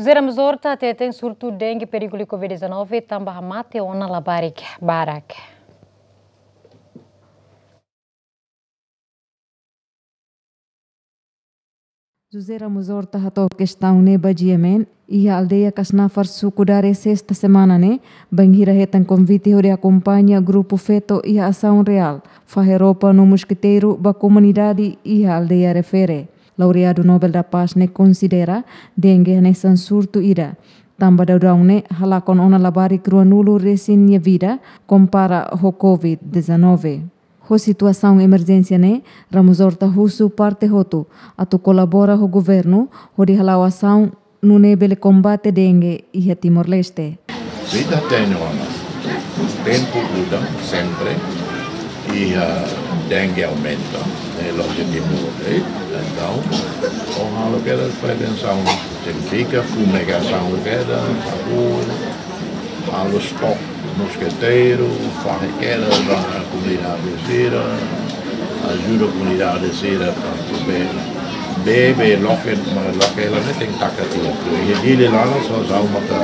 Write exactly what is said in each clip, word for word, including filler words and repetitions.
José Ramos Horta hateten surtu dengue perigu liu Covid dezanove tanba hamate ona labarik barak. José Ramos Horta hato'o kestaun ne'e ba GMN iha aldeia Kasnafar, suku Dare, sesta semana ne'e, bainhira hetan konvite hodi akompaña grupu feto iha asaun reál fahe roupa no moskiteiru ba komunidade iha aldeia refere. Laureadu Nobel da Paz ne'e konsidera dengue hanesan surtu ida, tanba daudaun ne'e halakon ona labarik ruanulu resin nia vida, kompara ho Covid dezanove. Ho situasaun emerjénsia ne'e, Ramos Horta husu parte hotu atu kolabora ho governu hodi hala'o asaun nune'e bele kombate dengue iha Timor-Leste. Vida tenke ona. Tempu muda sempre, iha dengue aumenta, ne'e lójiku muda. Entaun, o halo kedas prevensaun, signifika fumigasaun kedas, sabu, halo stop moskiteiru, fahe kedas ba komunidade sira, ajuda komunidade sira, tantu be, be, be loke, ma loke la ne'e tenke taka tiha. Iha Dili laran só ha'u maka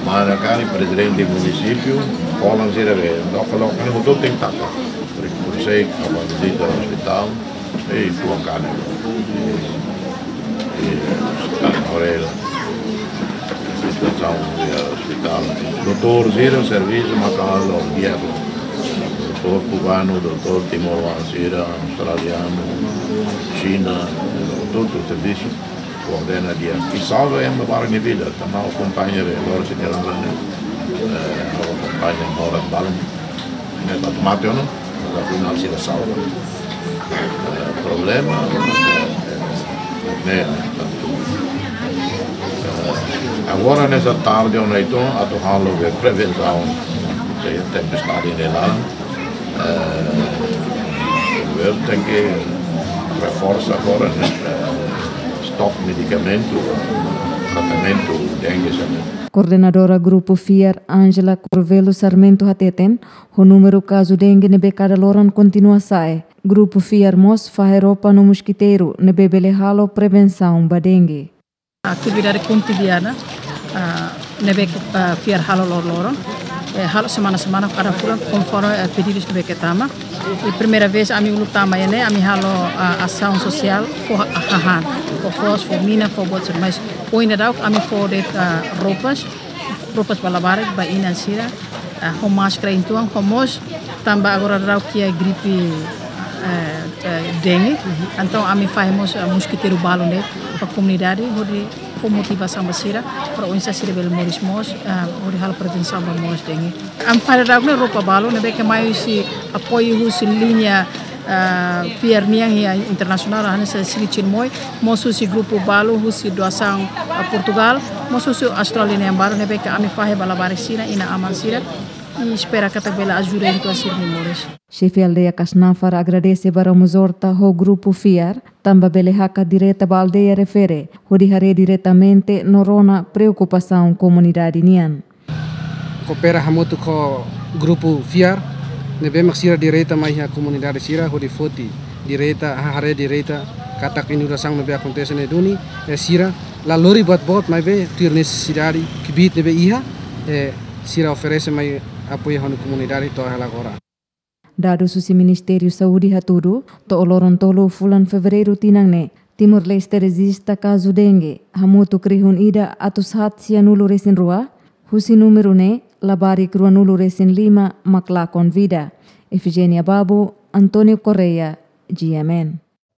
mana karik prezidente munisípiu, kolan sira be, loke, loke ne'e hotu tenke taka. Por, por sei, aba vizita ospitál, e tuan kane. E, e, tan orela. Situasaun iha ospitál. Doutór sira servisu maka halo di'ak. Doutór kubanu, doutór timoroan sira, australianu, Xina, doutór servisu koordena di'ak. I salva ema barak nia vida, tanba akompaña be, agora se kira ne'e, eh, akompaña moras balun. Ne'e ba mate ona, ba final sira salva. Eh, problema, eh, ne'e, tantu, eh, agora nesta tarde ona entaun, atu halo be prevensaun, se tempestade ne'e laran, eh, governu tenke reforsa agora, ne'e, eh, stop medikamentu, tratamentu dengue, sabe? Koordenadora Grupu FIAR, Ângela Corvelo Sarmento hateten, ho númeru kazu dengue ne'ebé kada loron kontinua sa'e, Grupu FIAR mós fahe roupa no moskiteiru ne'ebé bele halo prevensaun ba dengue. Atividade kotidiana, ah, ne'ebé, ah, FIAR halo loroloron, eh, halo semana-semana, kada fulan, konforme, eh, pedidus ne'ebé ke tama. I primeira vez ami uluk tama iha ne'e, ami halo, ah, asaun sosiál, fó ha-, hahán, fó foos, fó mina, fó buat sira, mas ohin daudauk ami fó de'it, ah, roupas, roupas ba labarik, ba inan sira, ah, ho máskara uitoan, ho mós, tanba agora daudauk iha gripe, eh, eh, dengue. Entaun ami fahe mós, eh, moskiteiru balun ne'e ba komunidade, hodi fó motivasaun ba sira, para oinsá sira bele moris moos, eh, hodi halo prevensaun ba moos dengue. Ami fahe daudauk ne'e roupa balun, ne'ebé ke mai husi apoiu husi liña, ah, FIAR nian iha internasionál, hanesan Sili Chirimoy, mós husi grupu balu, husi doasaun, ah, Portugal, mós husi Austrália nian balu, ne'ebé ke ami fahe ba labarik sira, inan-aman sira, i espera katak bele ajuda uitoan sira-nia moris. Xefe aldeia Kasnafar agradese ba Ramos Horta ho Grupu FIAR, tanba bele hakat direta ba aldeia refere, hodi haree diretamente no rona preokupasaun komunidade nian. Koopera hamutuk ho Grupu FIAR, ne'ebé mak sira direta mai iha komunidade sira, hodi foti direta, ha-, haree direta katak inundasaun ne'ebé akontese ne'e duni, e sira la lori buat boot maibé tuir nesesidade kbiit ne'ebé iha, e sira oferese mai apoiu hodi komunidade to'o iha agora. Dadus husi Ministériu Saúde hatudu, to'o loron tolu fulan Fevereiru tinan ne'e, Timor-Leste rejista kazu dengue hamutuk rihun ida atus haat sianulu resin rua, husi númeru ne'e labarik ruanulu resin lima mak lakon vida. Efigénia Babu, António Correia, GMN.